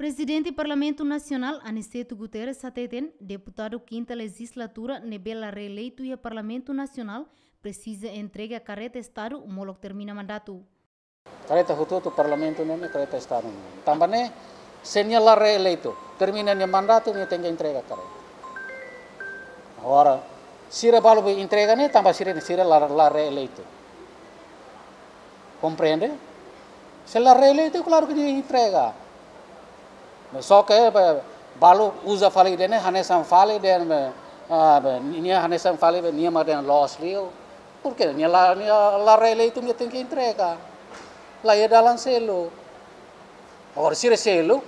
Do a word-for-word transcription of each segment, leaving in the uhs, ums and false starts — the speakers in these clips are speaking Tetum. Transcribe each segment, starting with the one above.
Prezidente Parlamentu Nasionál, Aniceto Guterres, hateten deputadu kinta lejizlatura ne'ebé la reeleitu iha Parlamentu Nasionál presiza entrega kareta Estadu molok termina mandatu. Kareta hotu-hotu Parlamentu ne'e, kareta Estadu ne'e. Tanba ne'e, se nia la reeleitu, termina nia mandatu, nia tenke entrega kareta. Agora, sira balu be entrega ne'e, tanba sira, sira la, la reeleitu. Komprende? Se la reeleitu, klaru ke nia entrega. Só ke, be, balu uza fali de'it ne'e, hanesan fali de'it, be, ah, be, nia hanesan fali, be, nia mak dehan loos liu. Porke nia la, nia la reeleitu, nia tenke entrega. La iha dalan seluk. Agora, sira seluk,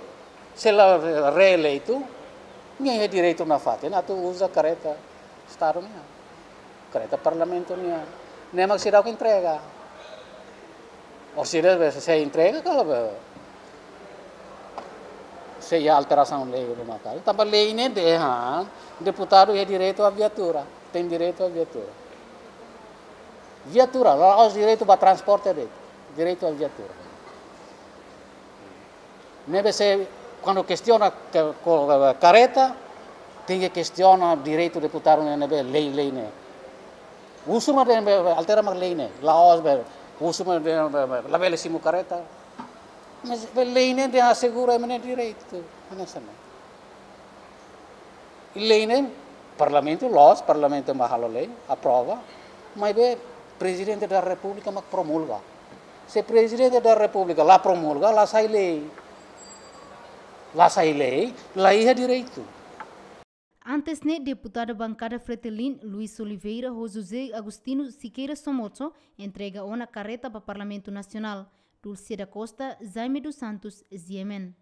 se la reeleitu, nia iha direitu nafatin atu uza kareta Estadu nian. Kareta Parlamentu nian. Ne'e mak seidauk entrega. Ou sira be, se entrega, kalau be, sei iha alterasaun lei ruma kali. Tanba lei ne'e dehan, deputadu iha direitu a viatura. Tem direitu a viatura. Viatura, la'ós direitu ba transporte de'it. Direitu a viatura. Ne'ebé se, kuandu kestiona ke, ko, kareta, tenke kestiona direitu deputadu ne'e, ne'ebé lei, lei ne'e. Husu mak dehan be, be, altera mak lei ne'e. La'ós be, husu mak dehan be, be, labele simu kareta. Mas be lei ne'e dehan asegura ema nia direitu. Hanesan ne'e. Lei ne'e, Parlamentu loos, Parlamentu mak halo lei, aprova, maibé Prezidente da Repúblika mak promulga. Se Prezidente da Repúblika la promulga, la sai lei. La sai lei, la iha direitu. Antes ne'e, deputadu bankada Fretilin, Luis Oliveira, ho José Agostinho Sequeira Somoza, entrega ona kareta ba Parlamentu Nasionál. Dulce da Costa, Jaime dos Santos, G M N.